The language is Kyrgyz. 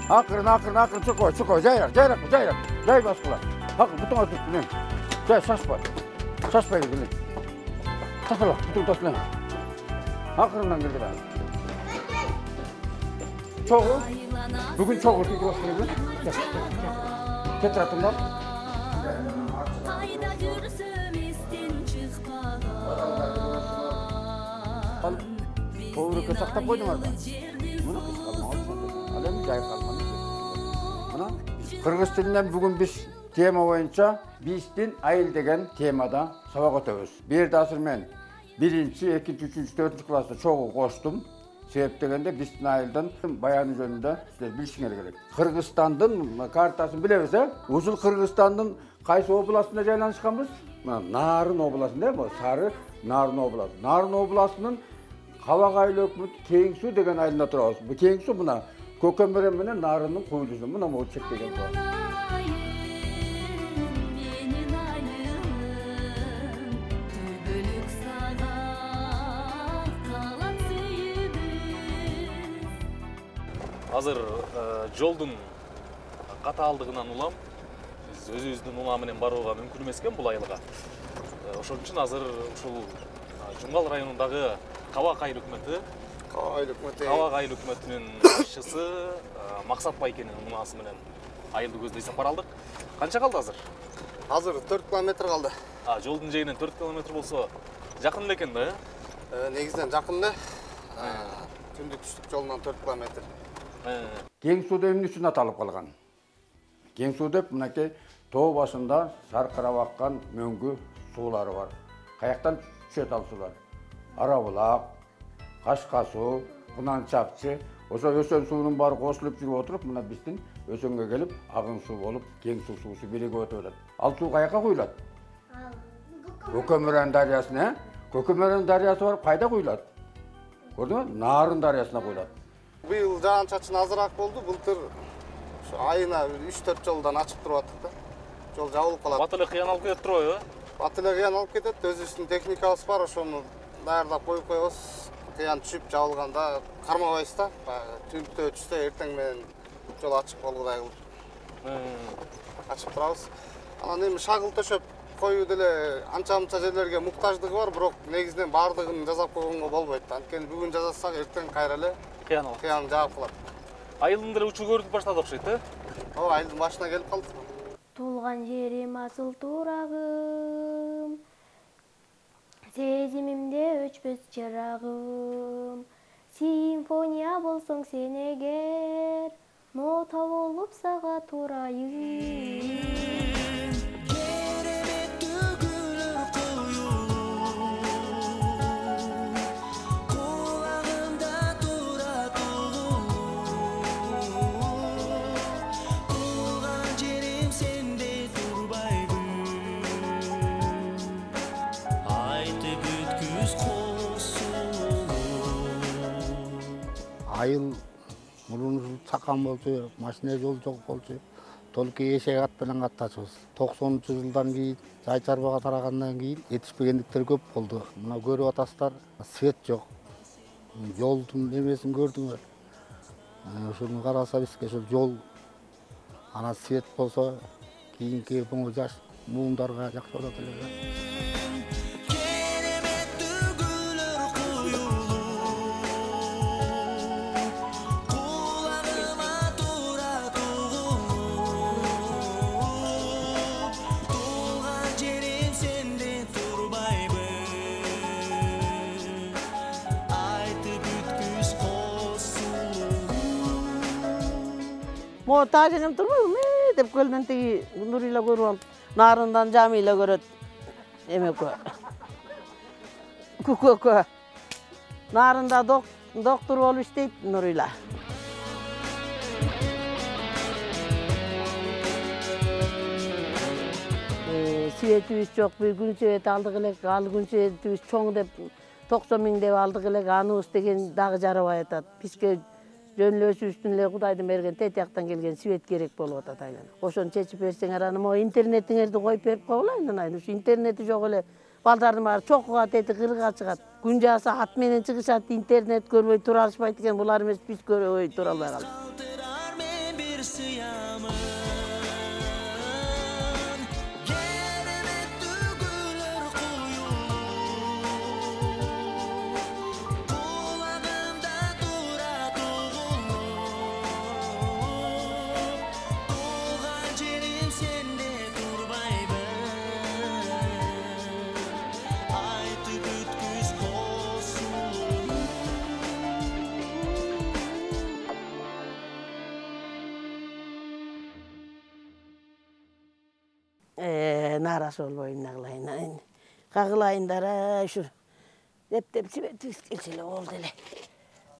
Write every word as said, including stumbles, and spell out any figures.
Акырын, акырын, акырын чукой, чукой, жайрак, жайрак, жайрак, жай баскыла. Акырын, бутуңа түп, мен. Жай, шашпа. Шашпай келе. Тасала, бутуң тасла. Акырындан келди да. Чогу. Бүгүн чогу тиги баштайбыз. Кетир атымдан. Кайда жүрсөм эстен чыкпаган. Тоорукка сактап койдуңар да. Муну кычкырмак. Ал эми жай калган. Мына кыргыз тилинен бүгүн биз тема боюнча биздин айыл деген темада сабак өтөбүз. Бу жерде азыр мен биринчи, экинчи, үчүнчү, төртүнчү класста чогуу коштум. Себеп дегенде биздин айылдын баяны жөнүндө силер билишиңер керек. Кыргызстандын картасын билебиз, э? Ушул Кыргызстандын кайсы областында жайланышканбыз? Мына Нарын областында, бу Сары Нарын областы. Нарын областынын Кабак айыл өкмөтү Кең Суу деген айылында турабыз. Бу Кең Суу мына Көкөмөрөн менен Нарындын куйдусу. Мына могу чектеген бу. Азыр жолдун катаалдыгынан улам биз өзүбүздүн улам менен барууга мүмкүн эмес экен бул айылга. Ошон үчүн азыр ушул Жумгал районундагы Кабак айыл өкмөтү Кабак айыл өкмөтү Кабак айыл өкмөтүнүн башчысы Максат Байкенин унаасы менен айылды көздөй сапар алдык. Канча калды азыр? Азыр төрт километр калды. А, жолдун жээгинен төрт километр болсо жакын эле экен да, э? Негизинен жакын эле. Түндүк түштүк жолунан төрт километр. Кең Суу деп эмне үчүн аталып калган? Кең Суу деп мынакей тоо башында саркырап аккан мөңгү суулары бар. Каяктан түшөт ал суулар? Ара булак, Кашка суу, Кунанчакчы, ошо Өсөн суунун баары кошулуп жүрүп отуруп, мына биздин Өсөнгө келип, Агын суу болуп, Кең Суу суусу биригип өтүп атат. Ал суу каяка куюлат? Көкөмөрөн дарыясына, э? Көкөмөрөн дарыясы барып кайда куюлат? Көрдүңбү? Нарын дарыясына куюлат. Быйыл жаан-чачын азыраак болду. Былтыр айына үч төрт жолдон ачып туруп аттык да. Жол жабылып калат. Бат эле кыян алып кетет турбайбы? Бат эле кыян алып кетет. Өзүбүздүн техникабыз бар, ошону даярдап коюп коебуз. Кыян түшүп жабылганда кармабайбыз да. Түнтө түштө эртең менен жол ачык болгудай кылып ачып турабыз. Анан эми шагыл төшөп коюу деле анча-мынча жерлерге муктаждыгы бар, бирок негизинен баардыгын жасап койгонго болбойт. Анткени бүгүн жасасак, эртең кайра эле кыян алып. Кыян жаап калат. Айылдын деле учуу көрүнүп баштады окшойт, э? Ооба, айылдын башына келип калдык. Туулган жерим асыл турагым, сезимимде өчпөс чырагым. Симфония болсоң сен эгер, нота болуп сага турайын. Айыл мурун чакан болчу, машина жол жок болчу. Только эшек ат менен каттачыбыз. токсонунчу жылдан кийин жай чарбага тарагандан кийин этишпегендиктер көп болду. Мына көрүп атасыздар, свет жок. Жолдун эмесин көрдүңөр. Ошону караса бизге ошол жол анан свет болсо кийинки буңу жаш муундарга жакшы болот эле. Мо тажыгым турбайбы деп көлдөн тиги Нурила көрүп алып, Нарындан Жамила көрөт. Эмекө. Күкөкө. Нарында доктор болуп иштейт Нурила. Светибиз жок, бир күн свет алдык элек, ал күн светибиз чоң деп токсон миң деп алдык элек, аныбыз деген дагы жарабай атат. Бизге жөн эле өзүбүздүн эле Кудайдын берген тетияктан келген свет керек болуп атат айлан. Ошону чечип берсеңер, аны могу интернетиңерди коюп берип койгулайын айын. Ушу интернети жок эле балдардын баары чокуга тети кырга чыгат. Күн жааса ат менен чыгышат, интернет көрбөй тура алышпайт экен. Булар эмес, биз көрбөй тура албай калдык. нааразы болбойм эмне кылайын. Кагылайындар ушу. Деп деп сибетибиз келсе эле болду эле.